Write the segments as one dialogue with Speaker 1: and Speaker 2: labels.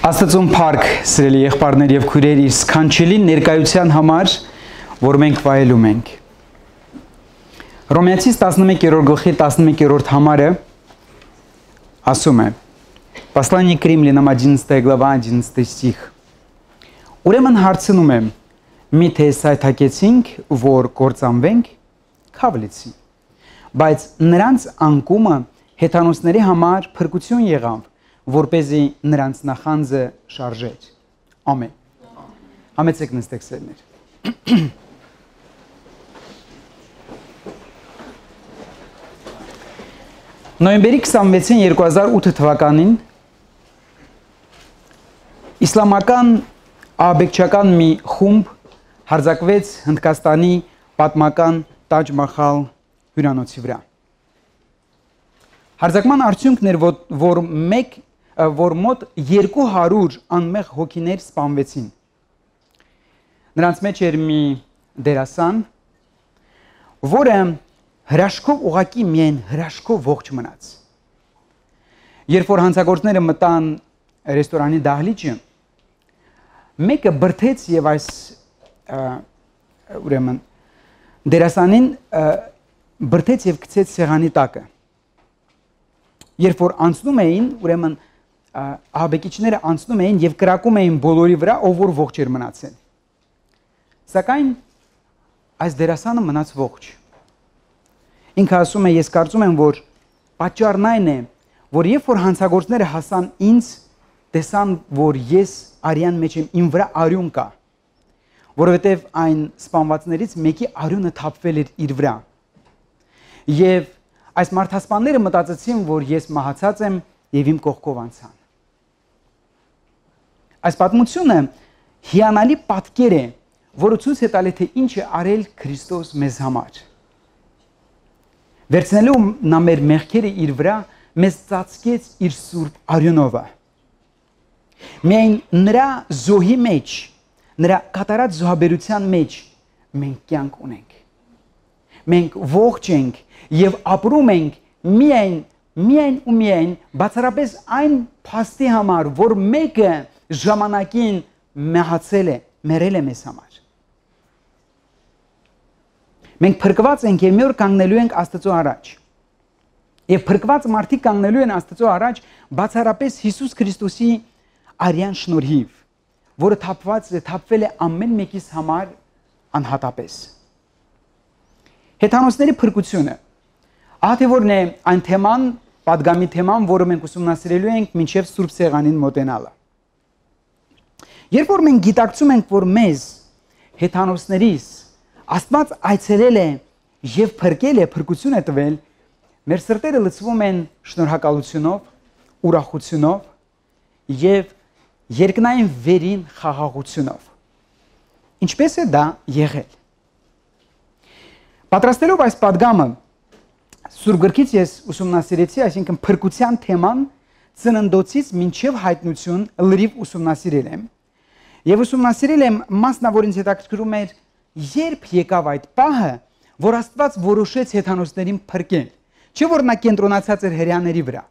Speaker 1: Աստծուն փառք, սիրելի եղբայրներ եւ քույրեր, իր սքանչելի ներկայության համար, որ մենք վայելում ենք։ Հռոմեացիս 11-րդ գլխի 11-րդ համարը ասում է. Послание к римлянам 11 глава 11 стих. Ուրեմն հարցնում եմ, միթե սայթակեցինք, որ կործանվենք, քավլեցի։ Բայց նրանց անկումը հեթանոսների համար փրկություն եղավ, որպեսզի նրանց նախանձը շարժեր։ Ամեն։ Համեցեք նստեք սերներ։ Նոյեմբերի 26-ին 2008 թվականին իսլամական աբեկչական մի խումբ հարձակվեց Հնդկաստանի պատմական Տաջ Մահալ հյուրանոցի վրա։ Հարձակման արդյունքն էր, որ մոտ 200 անմեղ հոգիներ սպանվեցին։ Նրանց մեջ էր մի դերասան, որը հրաշքով ուղակի միայն հրաշքով ողջ մնաց։ Երբ որ հանցագործները մտան ռեստորանի դահլիճը, մեկը բրդեց եւ այս ուրեմն դերասանին բրդեց եւ գցեց սեղանի տակը։ Երբ որ անցնում էին, ուրեմն ահաբեկիչները անցնում էին եւ կրակում էին բոլորի վրա, ով որ ողջ էր մնացել։ Սակայն այս դերասանը մնաց ողջ։ Ինքը ասում է, ես կարծում եմ, որ պատճառն այն է, որ երբ որ հանցագործները հասան ինձ, տեսան, որ ես արյան մեջ եմ, իմ վրա արյուն կա, որովհետև այն սպանվածներից մեկի արյունը թափվել էր իր վրա։ Եվ այս մարդասպանները մտածեցին, որ ես մահացած եմ եւ իմ կողքով անցան։ Այս պատմությունը հիանալի պատկեր է, որը ցույց է տալի, թե ինչ է արել Քրիստոս մեզ համար։ Վերցնելու նա մեր մեղքերը իր վրա, մեզ ծածկեց իր սուրբ արյունովը։ Միայն նրա զոհի մեջ, նրա կատարած զոհաբերության մեջ մենք կյանք ունենք։ Մենք ողջ ենք եւ ապրում ենք միայն բացառապես այն փաստի համար, որ մեկը ժամանակին մահացել է, մեռել է մեզ համար։ Մենք փրկված ենք եւ մի օր կանգնելու ենք Աստծո առաջ։ Եվ փրկված մարդիկ կանգնելու են Աստծո առաջ բացառապես Հիսուս Քրիստոսի արյան շնորհիվ, որը թափվել է ամեն մեկիս համար անհատապես։ Հեթանոսների փրկությունը։ Ահա թե որն է այն թեման, պատգամի թեման, որը մենք ուսումնասիրելու ենք մինչև Սուրբ Սեղանին մոտենալը։ Երբ որ մենք գիտակցում ենք, որ մեզ հեթանոսներից Աստված այցելել է եւ փրկել է, փրկություն է տվել, մեր սրտերը լցվում են շնորհակալությունով, ուրախությունով եւ երկնային վերին խաղաղությունով։ Ինչպես է դա եղել։ Պատրաստելով այս պատգամը, Սուրբ գրքից ես ուսումնասիրեցի, այսինքն փրկության թեման ծննդոցից մինչև հայտնություն լրիվ ուսումնասիրել եմ։ Եվ ուսումնասիրել եմ մասնավոր ինձ հետաքրքրում էր երբ եկավ այդ պահը, որ Աստված որոշեց հեթանոսներին փրկել, չէ՞ որ նա կենտրոնացած էր հրեաների վրա։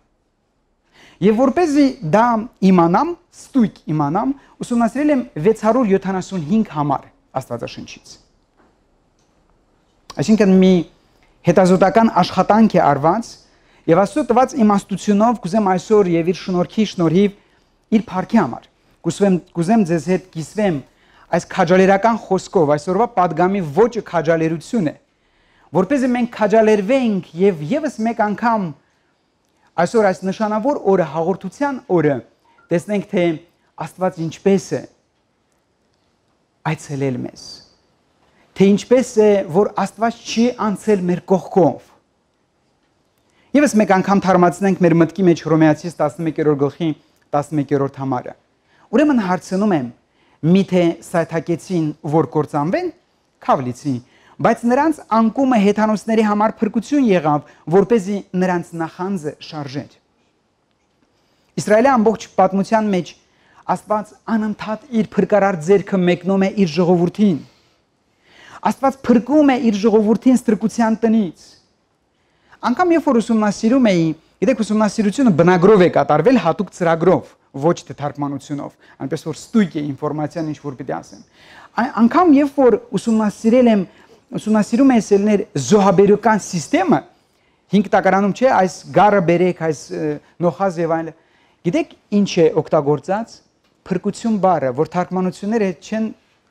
Speaker 1: Եվ որպեսզի դա իմանամ, ստույգ իմանամ, ուսումնասիրել եմ 675 համար Աստվածաշնչից։ Այսինքն մի հետազոտական աշխատանք է արված եւ Աստծո տված իմաստությունով կուզեմ այսօր եւ իր շնորհիվ իր փառքի համար կուզեմ ձեզ հետ կիսվեմ այս քաջալերական խոսքով, այսօրվա պատգամի ոճը քաջալերություն է, որպեսզի մենք քաջալերվենք եւ եւս մեկ անգամ այսօր այս նշանավոր օրը, հաղորդության օրը, տեսնենք, թե Աստված ինչպես է այցելել մեզ, թե ինչպես է, որ Աստված չի անցել մեր կողքով։ Եվս մեկ անգամ թարմացնենք մեր մտքի մեջ Հռոմեացիս 11-րդ գլխի 11-րդ համարը։ Ուրեմն հարցնում եմ, միթե սայթակեցին, որ կործանվեն, քավլեցի, բայց նրանց անկումը հեթանոսների համար փրկություն եղավ, որպեսզի նրանց նախանձը շարժեր։ Իսրայելի ամբողջ պատմության մեջ Աստված անընդհատ իր փրկարար ձեռքը մեկնում է իր ժողովրդին։ Աստված փրկում է իր ժողովրդին ստրկության տնից։ Անկամ երբ որ ուսումնասիրում էի, գիտեք, ուսումնասիրությունը բնագրով է կատարվել, հատուկ ծրագրով։ ոչ թե թարգմանությունով, այնպես որ ստույգ է ինֆորմացիան ինչ որ պիտի ասեմ։ Անկամ երբ որ ուսումնասիրում ես ելներ զոհաբերական համակարգը, 5 տակարանում չէ, այս գարը բերեք, այս նոխազ եւ այլն։ Գիտեք ինչ է օգտագործած փրկություն բառը, որ թարգմանությունները չեն,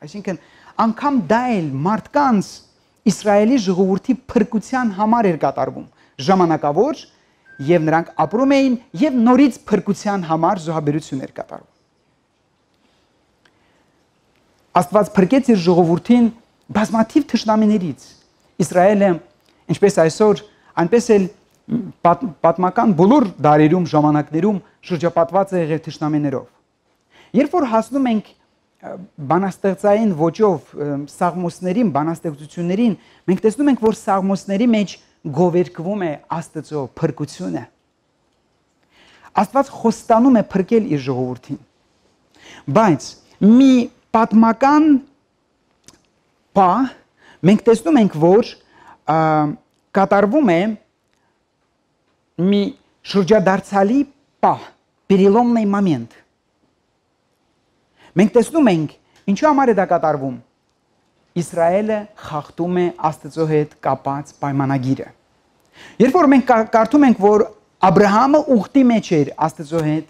Speaker 1: այսինքն անգամ դա էլ մարդկանց Իսրայելի ժողովրդի փրկության համար էր կատարվում, ժամանակավոր եւ նրանք ապրում էին եւ նորից փրկության համար զոհաբերություն էր կատարվում։ Աստված փրկեց իր ժողովրդին բազմաթիվ թշնամիներից։ Իսրայելը, ինչպես այսօր, այնպես էլ պատմական բոլոր դարերում, ժամանակներում շրջապատված է եղել թշնամիներով։ Երբ որ հասնում ենք բանաստեղծային ոճով սաղմոսներին, բանաստեղծություններին, մենք տեսնում ենք, որ սաղմոսների մեջ գովերգվում է Աստծո փրկությունը։ Աստված խոստանում է փրկել իր ժողովրդին։ Բայց մի պատմական բան մենք տեսնում ենք, որ կատարվում է մի շրջադարձալի բան, переломный момент։ Մենք տեսնում ենք, ինչու համար է դա կատարվում։ Իսրայելը խախտում է Աստծո հետ կապած պայմանագիրը։ Երբ որ մենք կարդում ենք, որ Աբրահամը ուխտի մեջ էր Աստծո հետ,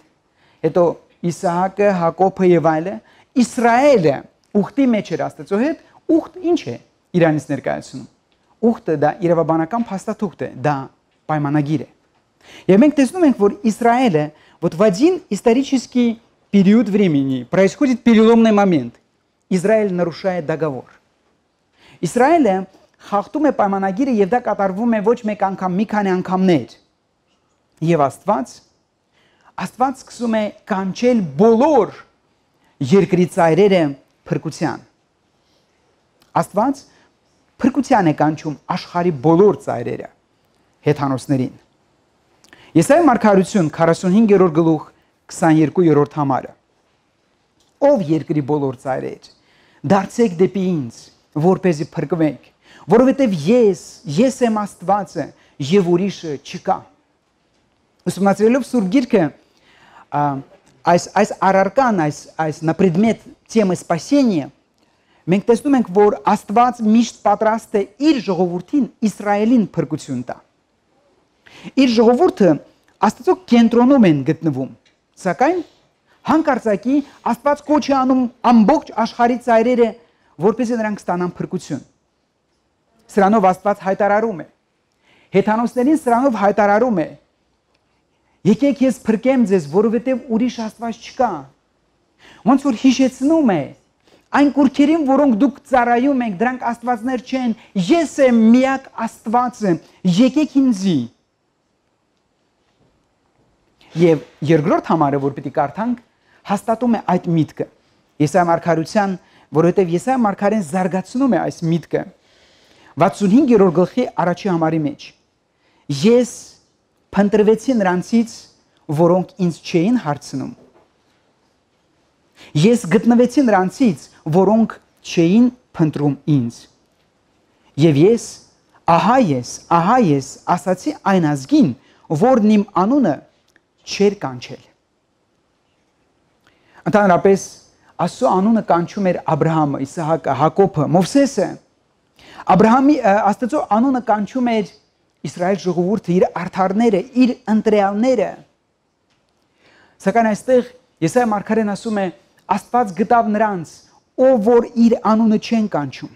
Speaker 1: հետո Իսահակը, Հակոբը եւ այլն, Իսրայելը ուխտի մեջ էր Աստծո հետ, ուխտ ինչ է Իրանից ներկայացնում։ Ուխտը դա իրավաբանական փաստաթուղթ է, դա պայմանագիր է։ Եվ մենք տեսնում ենք, որ Իսրայելը вот в один исторический период времени происходит переломный момент. Израиль нарушает договор. Իսրայելը խախտում է պայմանագիրը եւ դա կատարվում է ոչ մեկ անգամ, մի քանի անգամներ։ Եվ Աստված սկսում է կանչել բոլոր երկրի ծայրերը փրկության։ Աստված փրկության է կանչում աշխարհի բոլոր ծայրերը հեթանոսներին։ Եսայիա մարգարություն 45-րդ գլուխ 22-րդ համարը։ Ով երկրի բոլոր ծայրեր, դարձեք դեպի ինձ, որպեսզի փրկվեք, որովհետև ես եմ Աստվածը եւ ուրիշը չկա։ Ուսումնասիրելով Սուրբ Գիրքը, այս առարկան, այս на предмет темы спасения, մենք տեսնում ենք, որ Աստված միշտ պատրաստ է իր ժողովրդին Իսրայելին փրկություն տա։ Իր ժողովուրդը Աստծո կենտրոնում են գտնվում, սակայն հանկարծակի Աստված կոչ է անում ամբողջ աշխարհի ծայրերը, որպեսզի նրանք ստանան փրկություն։ Սրանով Աստված հայտարարում է։ Հեթանոսներին սրանով հայտարարում է. Եկեք ես փրկեմ ձեզ, որովհետև ուրիշ Աստված չկա։ Ոնց որ հիշեցնում է այն կուրքերին, որոնք դուք ծառայում եք, դրանք աստվածներ չեն, ես եմ միակ Աստվածը, եկեք ինձի։ Եվ երկրորդ համարը, որ պիտի կարդանք, հաստատում է այդ միտքը։ Եսայիա մարգարության, որովհետև Եսայիա մարգարեն զարգացնում է այս միտքը 65-րդ գլխի առաջի համարի մեջ։ Ես փնտրվեցի նրանցից, որոնք ինձ չէին հարցնում։ Ես գտնվեցի նրանցից, որոնք չէին փնտրում ինձ։ Եվ ես, ահա ես, ասացի այն ազգին, որն իմ անունը չեր կանչել։ Ընդհանրապես Աստծո անունը կանչում էր Աբրահամը, Իսահակը, Հակոբը, Մովսեսը։ Աստծո անունը կանչում էր Իսրայել ժողովուրդը, իր արդարները, իր ընտրյալները։ Սակայն այստեղ Եսայիա մարգարեն ասում է, Աստված գտավ նրանց, ով որ իր անունը չեն կանչում։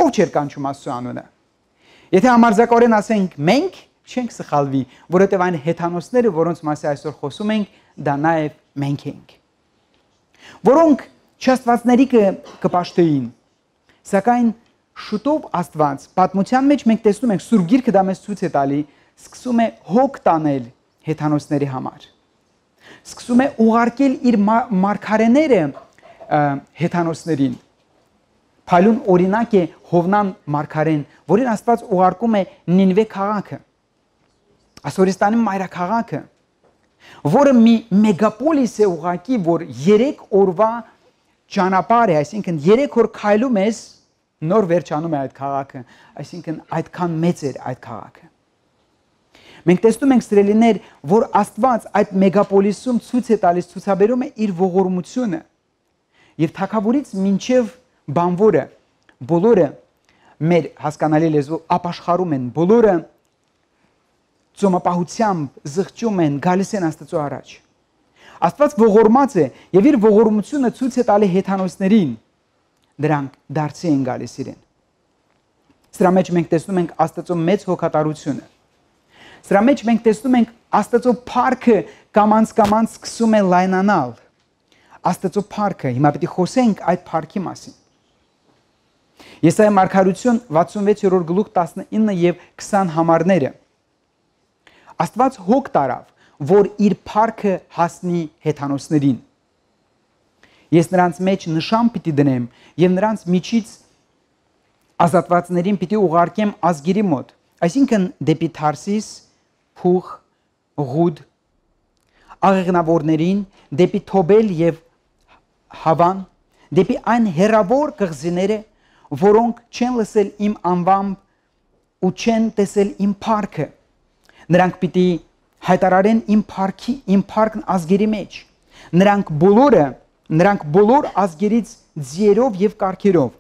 Speaker 1: Ով չէր կանչում Աստծո անունը։ Եթե համարձակորեն ասենք մենք, չենք սխալվի, որովհետև այն հեթանոսները, որոնց մասի այսօր խոսում ենք, դա նաև մենք ենք։ Որոնք չաստվածների կպաշտեին։ Սակայն շուտով Աստված պատմության մեջ մենք տեսնում ենք Սուրբ Գիրքը դա մեզ ցույց է տալի, սկսում է հոգ տանել հեթանոսների համար։ Սկսում է ուղարկել իր մարգարեները հեթանոսներին։ Փայլուն օրինակ է Հովնան մարգարեն, որին Աստված ուղարկում է Նինվե քաղաքը, Ասորիստանի մայրաքաղաքը, որը մի մեգապոլիս է ուղակի, որ 3 օրվա ճանապարհ է, այսինքն 3 օր քայլում ես, նոր վերջանում է այդ քաղաքը, այսինքն այդքան մեծ էր այդ քաղաքը։ Մենք տեսնում ենք սիրելիներ, որ Աստված այդ մեգապոլիսում ցույց է տալիս, ցուցաբերում է իր ողորմությունը։ Եվ թագավորից մինչև բանվորը բոլորը մեր հասկանալի լեզվով ապաշխարում են, բոլորը ծոմապահությամբ զղջում են, գալիս են Աստծո առաջ։ Աստված ողորմած է եւ իր ողորմությունը ցույց է տալի հեթանոսներին, դրանք դարձի են գալիս իրեն։ Սրա մեջ մենք տեսնում ենք Աստծո մեծ հոգատարությունը։ Սրա մեջ մենք տեսնում ենք Աստծո փառքը կամանց սկսում է լայնանալ։ Աստծո փառքը, հիմա պետք է խոսենք այդ փառքի մասին։ Եսայիա մարգարություն 66-րդ գլուխ 19 եւ 20 համարները։ Աստված հոգ տարավ, որ իր փառքը հասնի հեթանոսներին։ Ես նրանց մեջ նշան պիտի դնեմ եւ նրանց միջից ազատվածներին պիտի ուղարկեմ ազգերի մոտ, այսինքն դեպի Թարսիս, Փուղ, Ղուդ, աղեղնավորներին, դեպի Թոբել եւ Հավան, դեպի այն հերավոր կղզիները, որոնք չեն լսել իմ անվամբ ու չեն տեսել իմ փառքը։ Նրանք պիտի հայտարարեն իմ փառքն ազգերի մեջ։ Նրանք բոլոր ազգերից ձիերով եւ կառքերով,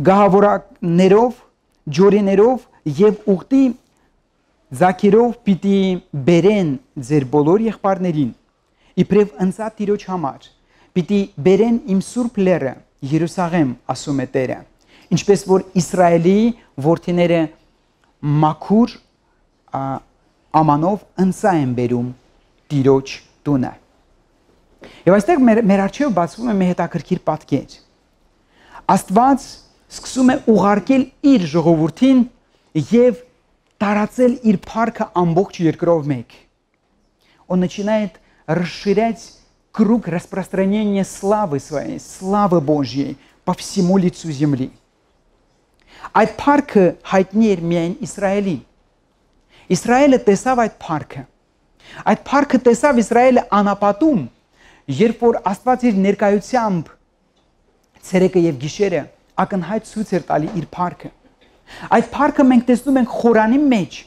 Speaker 1: գահավորակներով, ջորիներով եւ ուղտի զաքերով պիտի բերեն ձեր բոլոր եղբայրներին, իբրև ընծա Տիրոջ համար, պիտի բերեն իմ սուրբ լեռը, Երուսաղեմ, ասում է Տերը, ինչպես որ Իսրայելի որդիները մաքուր ամանով ընծա են բերում Տիրոջ տունը։ Եվ այստեղ մեր առջև բացվում է մի հետաքրքիր պատկեր։ Աստված սկսում է уղարկել իր ժողովրդին եւ տարածել իր փառքը ամբողջ երկրով մեկ։ Он начинает расширять круг распространения славы своей, славы Божьей по всему лицу земли. Այդ փառքը հայտնի էր միայն Իսրայելին։ Իսրայելը տեսավ այդ փառքը։ Այդ փառքը տեսավ Իսրայելը անապատում, երբ որ Աստված իր ներկայությամբ ցերեկը եւ գիշերը ակնհայտ ցույց էր տալի իր փառքը։ Այդ փառքը մենք տեսնում ենք Խորանի մեջ։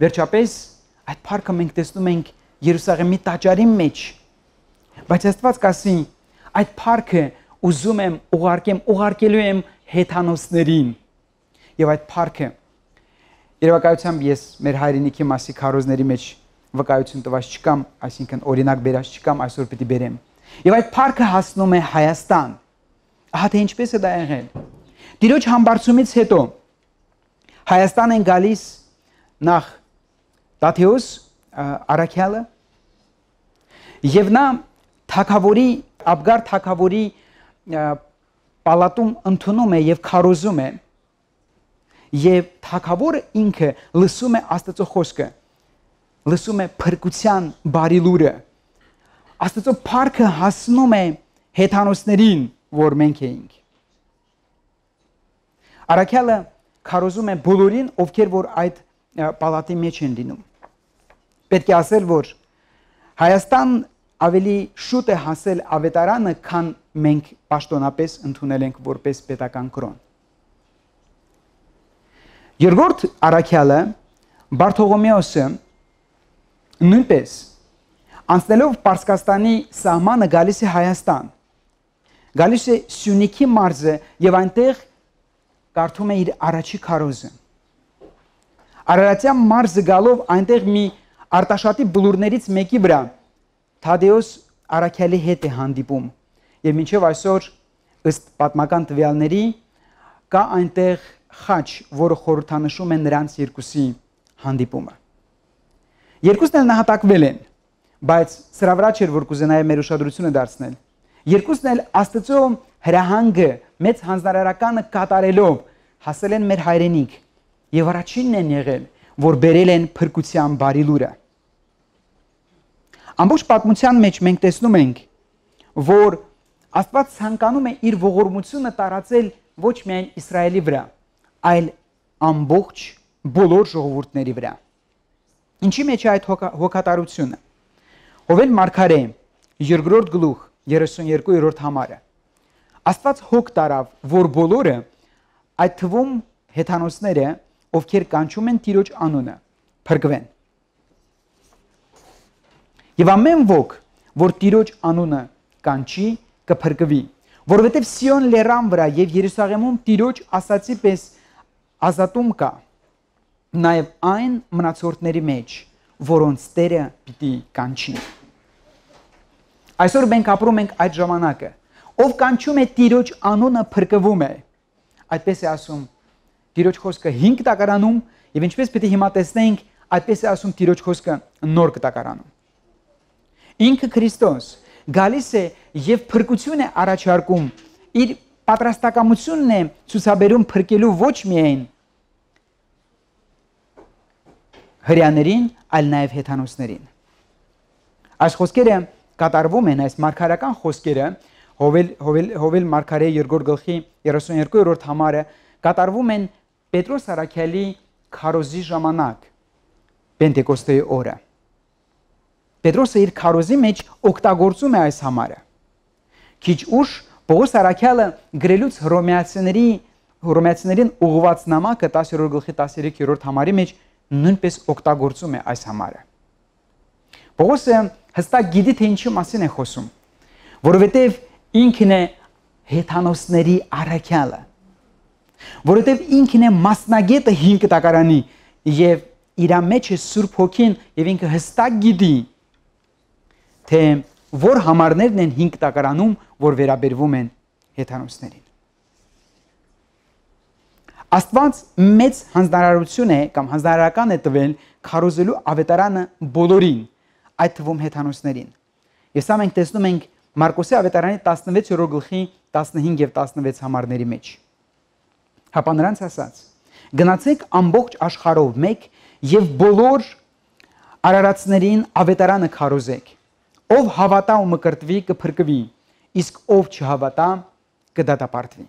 Speaker 1: Վերջապես այդ փառքը մենք տեսնում ենք Երուսաղեմի տաճարի մեջ։ Բայց Աստված կասի, այդ փառքը ուզում եմ ուղարկելու եմ հեթանոսներին։ Եվ այդ փառքը երևակայությամբ ես մեր հայրենիքի մասի քարոզների մեջ վկայություն տված չկամ, այսինքն օրինակ բերած չկամ, այսօր պիտի բերեմ։ Եվ այդ փառքը հասնում է Հայաստան։ Ահա թե ինչպես է դա եղել։ Տիրոջ համբարձումից հետո Հայաստան են գալիս նախ Տաթեոս Արաքյալը եւ նա թագավորի Աբգար թագավորի պալատում ընդունում է եւ քարոզում է եւ թագավորը ինքը լսում է Աստծո խոսքը, լսում է փրկության բարի լուրը, Աստծո փառքը հասնում է հեթանոսներին, որ մենք էինք։ Արաքյալը քարոզում է բոլորին, ովքեր որ այդ պալատի մեջ են լինում։ Պետք է ասել, որ Հայաստան ավելի շուտ է հասել ավետարանը, քան մենք պաշտոնապես ընդունել ենք որպես պետական կրոն։ Երկրորդ Արաքյալը, Բարթողոմեոսը, նույնպես անցնելով Պարսկաստանի սահմանը գալիս է Հայաստան, գալիս է Սյունիքի մարզը եւ այնտեղ կարդում է իր առաջի քարոզը։ Արարատյան մարզը գալով այնտեղ մի Արտաշատի բլուրներից մեկի վրա Թադեոս Արաքյալի հետ է հանդիպում եւ մինչեւ այսօր ըստ պատմական տվյալների կա այնտեղ խաչ, որը խորհրդանշում է նրանց երկուսի հանդիպումը։ Երկուսն էլ նահատակվել են, բայց սրա վրա չէր որ կուզենայի մեր ուշադրությունը դարձնել։ Երկուսն էլ Աստծո հրահանգը մեծ հանձնարարականը կատարելով հասել են մեր հայրենիք եւ առաջինն են եղել, որ բերել են փրկության բարի լուրը։ Ամբողջ պատմության մեջ մենք տեսնում ենք, որ Աստված ցանկանում է իր ողորմությունը տարածել ոչ միայն Իսրայելի վրա, այլ ամբողջ բոլոր ժողովուրդների վրա։ Ինչի մեջ է այդ հոգատարությունը։ Հովել մարգարե 2-րդ գլուխ 32-րդ համարը։ Աստված հոգ տարավ, որ բոլորը, այդ թվում հեթանոսները, ովքեր կանչում են Տիրոջ անունը, փրկվեն։ Եվ ամեն ոք, որ Տիրոջ անունը կանչի, կփրկվի, որովհետև Սիոն լեռան վրա եւ Երուսաղեմում Տիրոջ ասացի պես ազատում կա, նաեւ այն մնացորդների մեջ, որոնց Տերը պիտի կանչի։ Այսօր մենք ապրում ենք այդ ժամանակը, ով կանչում է Տիրոջ անունը փրկվում է։ Այդպես է ասում Տիրոջ խոսքը 5 տակարանում եւ ինչպես պիտի հիմա տեսնենք, այդպես է ասում Տիրոջ խոսքը նոր տակարանում։ Ինքը Քրիստոս գալիս է եւ փրկություն է առաջարկում, իր պատրաստակամությունն է ցուցաբերում փրկելու ոչ միայն հրեաներին, այլ նաեւ հեթանոսներին։ Այս խոսքերը կատարվում են, այս մարգարական խոսքերը Հովել մարգարե 2 գլխի 32-րդ համարը կատարվում են Պետրոս առաքյալի քարոզի ժամանակ, Պենտեկոստեի օրը։ Պետրոսը իր քարոզի մեջ օգտագործում է այս համարը։ Քիչ ուշ Պողոս առաքյալը գրելուց հռոմեացիներին ուղղված նամակը 10-րդ գլխի 13-րդ համարի մեջ նույնպես օգտագործում է այս համարը։ Պողոսը հստակ գիտի, թե ինչի մասին է խոսում, որովհետև ինքն է հեթանոսների առաքյալը, որովհետև ինքն է մասնագետը 5 տակարանի եւ իր մեջ է Սուրբ Հոգին եւ ինքը հստակ գիտի, թե որ համարներն են 5 տակարանում, որ վերաբերվում են հեթանոսներին։ Աստված մեծ հանձնարարություն է կամ հանձնարարական է տվել քարոզելու ավետարանը բոլորին, այդ թվում հեթանոսներին։ Եվ սա մենք տեսնում ենք Մարկոսի ավետարանի 16-րդ գլխի 15 եւ 16 համարների մեջ։ Հապա նրանց ասաց. գնացեք ամբողջ աշխարհով մեկ եւ բոլոր արարածներին ավետարանը քարոզեք։ Ով հավատա ու մկրտվի կփրկվի, իսկ ով չհավատա կդատապարտվի։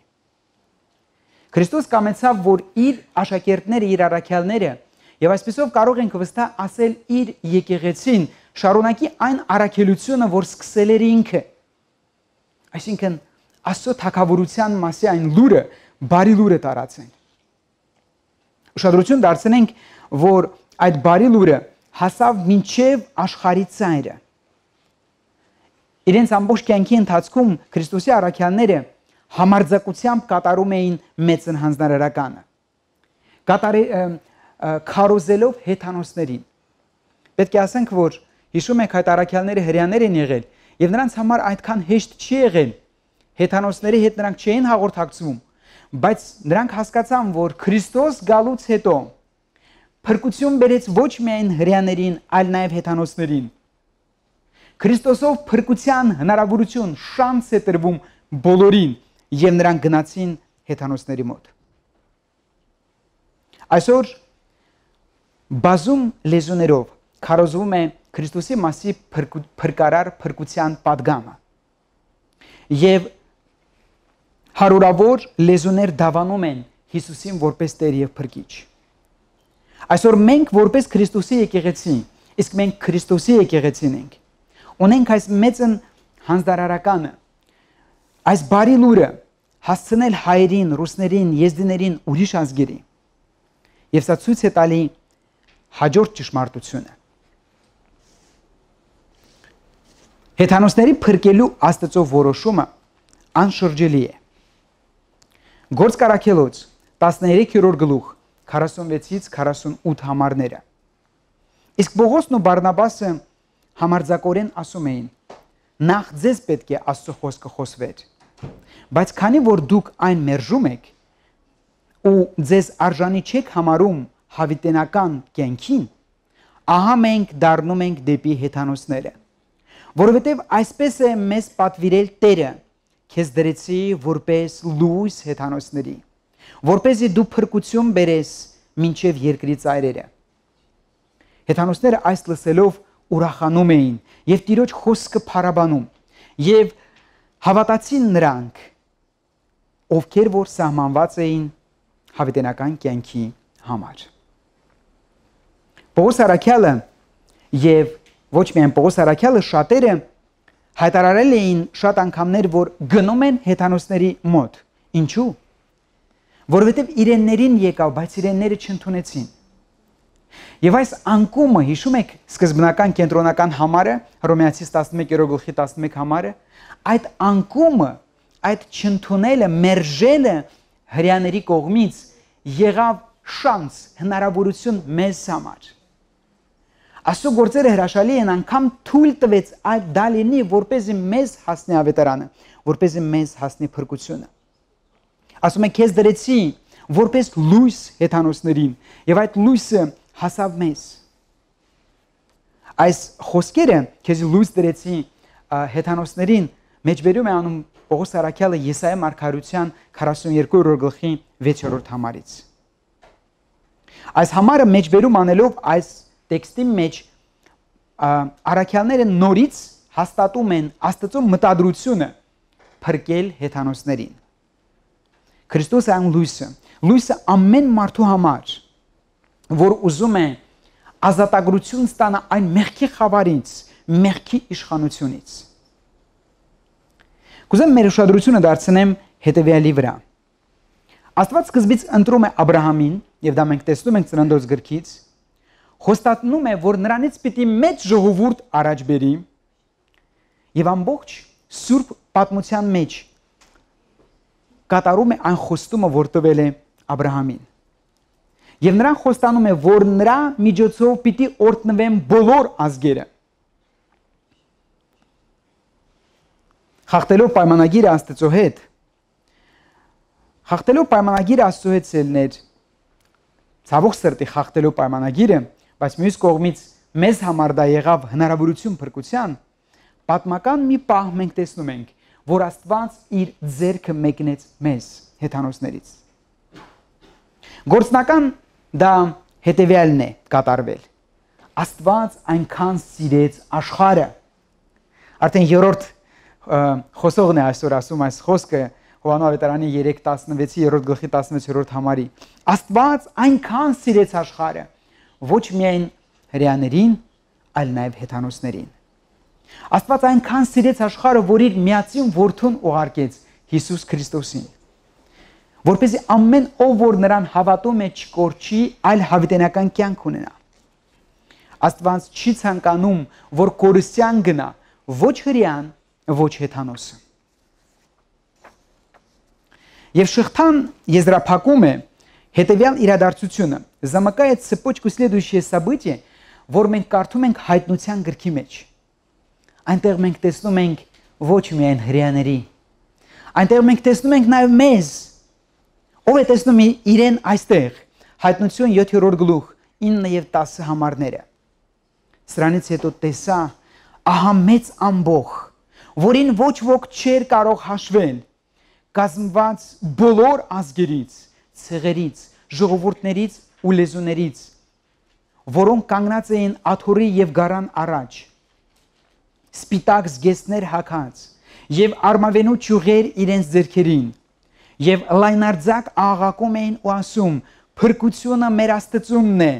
Speaker 1: Քրիստոս կամեցավ, որ իր աշակերտները, իր առաքյալները եւ այսպեսով կարող ենք վստահ ասել իր եկեղեցին շարունակի այն առաքելությունը, որ սկսել էր ինքը։ Այսինքն Աստծո թագավորության մասի այն լուրը, բարի լուրը տարածեն։ Ուշադրություն դարձնենք, որ այդ բարի լուրը հասավ մինչև աշխարհի ծայրը։ Իրենց ամբողջ կյանքի ընթացքում Քրիստոսի առաքյալները համարձակությամբ կատարում էին մեծն հանձնարարականը։ Քարոզելով հեթանոսներին։ Պետք է ասենք, որ հիշում եք այդ առաքյալները հրեաներ են եղել եւ նրանց համար այդքան հեշտ չի եղել։ Հեթանոսների հետ նրանք չէին հաղորդակցվում, բայց նրանք հասկացան, որ Քրիստոս գալուց հետո փրկություն բերեց ոչ միայն հրեաներին, այլ նաեւ հեթանոսներին։ Քրիստոսով փրկության հնարավորություն, շանս է տրվում բոլորին եւ նրանք գնացին հեթանոսների մոտ։ Այսօր բազում լեզուներով քարոզվում է Քրիստոսի մասի փրկարար փրկության պատգամը։ Եվ հարյուրավոր լեզուներ դավանում են Հիսուսին որպես Տեր եւ Փրկիչ։ Այսօր մենք որպես Քրիստոսի եկեղեցի, իսկ մենք Քրիստոսի եկեղեցին ենք, ունենք այս մեծն հանձնարարականը, այս բարի լուրը հասցնել հայերին, ռուսներին, եզդիներին, ուրիշ ազգերի։ Եվ սա ցույց է տալի հաջորդ ճշմարտությունը։ Հեթանոսների փրկելու Աստծո որոշումը անշրջելի է։ Գործք առաքելոց 13-րդ գլուխ 46-ից 48 համարները։ Իսկ Պողոսն ու Բարնաբասը համարձակորեն ասում էին. նախ ձեզ պետք է Աստծո խոսքը խոսվեր, բայց քանի որ դուք այն մերժում եք ու ձեզ արժանի չեք համարում հավիտենական կյանքին, ահա մենք դառնում ենք դեպի հեթանոսները, որովհետև այսպես է մեզ պատվիրել Տերը, քեզ դրեցի որպես լույս հեթանոսների, որպեսզի դու փրկություն բերես մինչև երկրի ծայրերը։ Հեթանոսները այս լսելով ուրախանում էին եւ Տիրոջ խոսքը փառաբանում եւ հավատացին նրանք, ովքեր որ սահմանված էին հավիտենական կյանքի համար։ Պողոս առաքյալը եւ ոչ միայն Պողոս առաքյալը, շատերը հայտարարել էին շատ անգամներ, որ գնում են հեթանոսների մոտ։ Ինչու՞։ որովհետև իրեններին եկավ, բայց իրենները չընդունեցին։ Եվ այս անկումը, հիշում եք սկզբնական կենտրոնական համարը, Հռոմեացիս 11:11 համարը, այդ անկումը, այդ չընդունելը, մերժելը հրեաների կողմից եղավ շանս, հնարավորություն մեզ համար։ Աստծո գործերը հրաշալի են, անգամ թույլ տվեց այդ դա լինի, որպեսզի մեզ հասնի ավետարանը, որպեսզի մեզ հասնի փրկությունը։ Ասում է քեզ դրեցի որպես լույս հեթանոսներին, եւ այդ լույսը հասավ մեզ։ Այս խոսքերը քեզ լույս դրեցի հեթանոսներին մեջբերում է անում Պողոս Արաքյալը Եսայա մարգարության 42-րդ գլխի 6-րդ համարից։ Այս համարը մեջբերում անելով այս տեքստի մեջ Արաքյալները նորից հաստատում են Աստծո մտադրությունը փրկել հեթանոսներին։ Քրիստոսը այն լույսը ամեն մարդու համար, որ ուզում է ազատագրություն ստանա այն մեղքի խավարից, մեղքի իշխանությունից։ Կուզեմ մեր ուշադրությունը դարձնեմ հետևյալի վրա։ Աստված սկզբից ընտրում է Աբրահամին, եւ դա մենք տեսնում ենք Ծննդոց գրքից, խոստացնում է, որ նրանից պիտի մեծ ժողովուրդ առաջ բերի, եւ ամբողջ սուրբ պատմության մեջ կատարում է այն խոստումը, որ տվել է Աբրահամին։ Եվ նրան խոստանում է, որ նրա միջոցով պիտի օրհնվեն բոլոր ազգերը։ Խախտելով պայմանագիրը Աստծո հետ, սելներ, ցավոք սրտի խախտելով պայմանագիրը, բայց մյուս կողմից մեզ համար դա եղավ հնարավորություն փրկության, պատմական մի պահ մենք տեսնում ենք, որ Աստված իր ձեռքը մեկնեց մեզ հեթանոսներից։ Գործնական դա հետևյալն է կատարվել։ Աստված այնքան սիրեց աշխարհը։ Արդեն երրորդ խոսողն է այսօր ասում այս խոսքը Հովհաննես ավետարանի 3:16-ի 3-րդ գլխի 16-րդ համարի։ Աստված այնքան սիրեց աշխարհը, ոչ միայն հրեաներին, այլ նաև հեթանոսներին։ Աստված այնքան սիրեց աշխարհը, որ իր միածին որդուն ուղարկեց Հիսուս Քրիստոսին, որպեսզի ամեն ով որ նրան հավատում է չկորչի, այլ հավիտենական կյանք ունենա։ Աստված չի ցանկանում, որ կորստյան գնա ոչ հրեան, ոչ հեթանոսը։ Եվ շղթան եզրափակում է հետևյալ իրադարձությունը. Замыкает цепочку следующее событие, որ մենք կարդում ենք հայտնության գրքի մեջ։ Այնտեղ մենք տեսնում ենք ոչ միայն հրեաների, այնտեղ մենք տեսնում ենք նաև մեզ։ Ով է տեսնում իրեն այստեղ, հայտնություն 7-րդ գլուխ 9 եւ 10 համարները։ Սրանից հետո տեսա ահա մեծ ամբոխ, որին ոչ ոք չէր կարող հաշվել, կազմված բոլոր ազգերից, ցեղերից, ժողովուրդներից ու լեզուներից, որոնք կանգնած էին աթոռի եւ գարան առաջ, սպիտակ զգեստներ հագած եւ արմավենու ճյուղեր իրենց ձեռքերին, եւ լայնարձակ աղաղակում էին ու ասում. «Փրկությունը մեր Աստծունն է,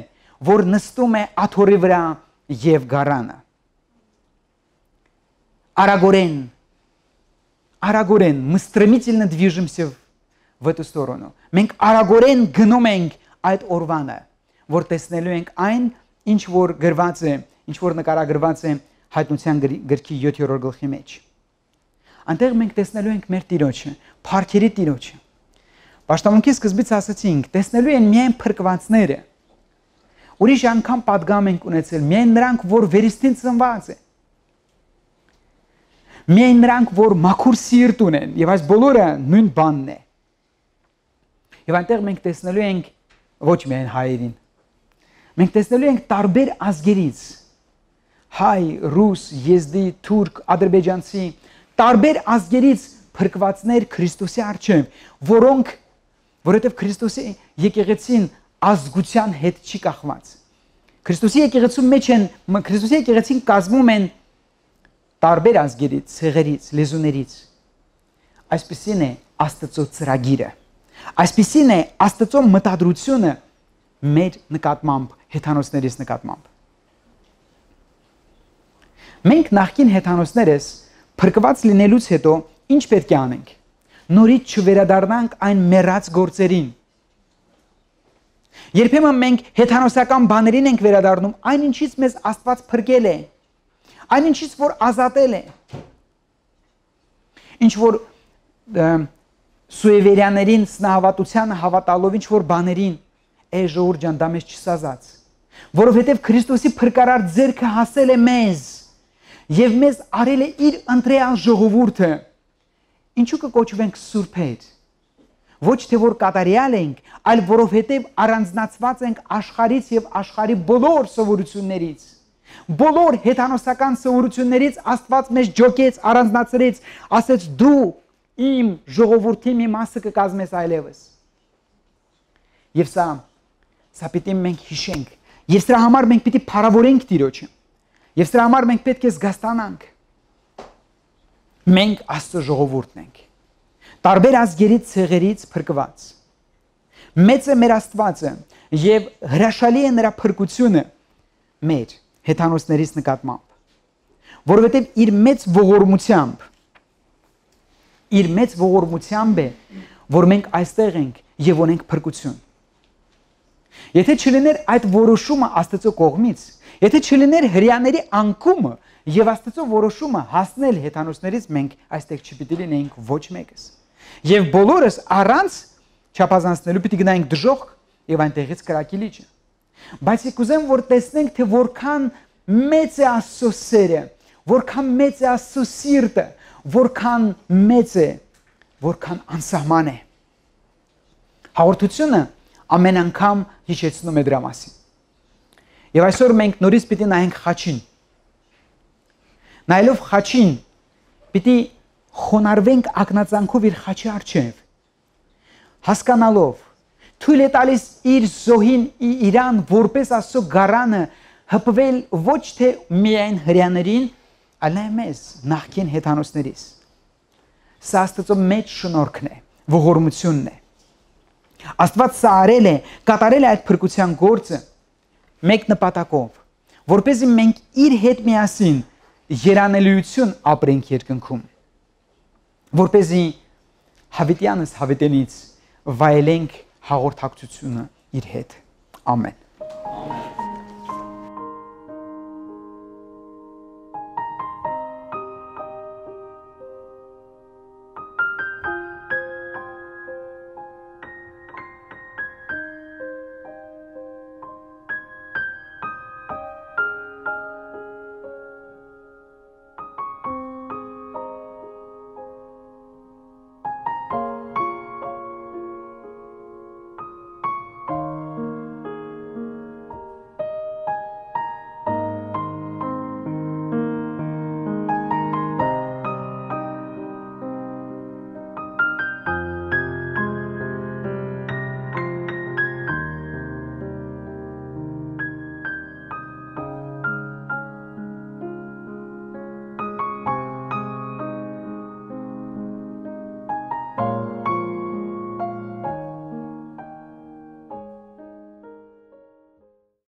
Speaker 1: որ нստում է աթոռի վրա եւ գարանը»։ Арагорен, мы стремительно движемся в эту сторону. Մենք արագորեն գնում ենք այդ օրվանը, որ տեսնելու ենք այն, ինչ որ գրված է, ինչ որ նկարագրված է հայտնության գրքի 7-րդ գլխի մեջ։ Անտեղ մենք տեսնելու ենք մեր Տիրոջը, Փառքերի Տիրոջը։ Պաշտամունքի սկզբից ասացինք, տեսնելու են միայն փրկվածները։ Ուրիշ անգամ պատգամ ենք ունեցել միայն նրանք, որ վերստին ծնված են։ Միայն նրանք, որ մաքուր սիրտ ունեն, եւ այս բոլորը նույն բանն է։ Եվ այնտեղ մենք տեսնելու ենք ոչ միայն հայերին։ Մենք տեսնելու ենք տարբեր ազգերից՝ հայ, ռուս, եզդի, թուրք, ադրբեջանցի, տարբեր ազգերից փրկվածներ Քրիստոսի առջև, որովհետև Քրիստոսի եկեղեցին ազգության հետ չի կախված։ Քրիստոսի եկեղեցու մեջ են, Քրիստոսի եկեղեցին կազմում են տարբեր ազգերից, ցեղերից, լեզուներից։ Այսպիսին է Աստծո ծրագիրը։ Այսպիսին է Աստծո մտադրությունը մեր նկատմամբ, հեթանոսներիս նկատմամբ։ Մենք նախկին հեթանոսներս փրկված լինելուց հետո ինչ պետք է անենք։ նորից չվերադառնանք այն մեռած գործերին։ Երբեմն մենք հեթանոսական բաներին ենք վերադառնում, այն ինչից մեզ Աստված փրկել է, այն ինչից որ ազատել է։ Ինչ որ սուևերյաներին սնահավատության հավատալով ինչ որ բաներին, ժողովուրդ ջան, դա մեզ չսազած, որովհետև Քրիստոսի փրկարար ձեռքը հասել է մեզ եւ մեզ արել է իր ընտրյալ ժողովուրդը։ Ինչու կկոչվենք սուրբեր։ Ոչ թե որ կատարյալ ենք, այլ որովհետև առանձնացված ենք աշխարհից եւ աշխարհի բոլոր սովորություններից։ Բոլոր հեթանոսական սովորություններից Աստված մեզ ջոկեց, առանձնացրեց, ասեց դու իմ ժողովրդի մի մասը կկազմես այլևս։ Եվ սա պիտի մենք հիշենք, եւ սրա համար մենք պիտի փառավորենք Տիրոջը։ Եվ սրա համար մենք պետք է զգաստանանք։ Մենք Աստծո ժողովուրդն ենք։ Տարբեր ազգերից, ցեղերից փրկված։ Մեծ է մեր Աստվածը եւ հրաշալի է նրա փրկությունը մեր հեթանոսներից նկատմամբ, որովհետեւ իր մեծ ողորմությամբ է, որ մենք այստեղ ենք եւ ունենք փրկություն։ Եթե չլիներ այդ որոշումը Աստծո կողմից, եթե չլիներ հрьяաների անկումը եւ Աստծո որոշումը հասնել հեթանոսներից, մենք այստեղ չպիտի լինեինք ոչ մեկս։ Եվ բոլորս առանց չափազանցնելու պիտի գնայինք դժոխք եւ այնտեղից կրակի լիճը։ Բայց եկեք ուզեմ որ տեսնենք թե որքան մեծ է Աստծո սերը, որքան մեծ է Աստծո սիրտը, որքան մեծ է, որքան անսահման է։ Հաղորդությունը ամեն անգամ հիշեցնում է դրա մասին։ Եվ այսօր մենք նորից պիտի նայենք խաչին։ Նայելով խաչին, պիտի խոնարհվենք ակնածանքով իր խաչի առջև, հասկանալով, թույլ է տալիս իր զոհին իրան որպես Աստծո գարանը հպվել ոչ թե միայն հрьяաներին, այլ նաև մեզ, նախկին հեթանոսներից։ Սա Աստծո մեծ շնորհքն է, ողորմությունն է։ Աստված սա արել է, կատարել է այդ փրկության գործը մեկ նպատակով, որպեսզի մենք իր հետ միասին երանելիություն ապրենք երկնքում, որպեսզի հավիտյանս հավիտենից վայելենք հաղորդակցությունը իր հետ։ Ամեն։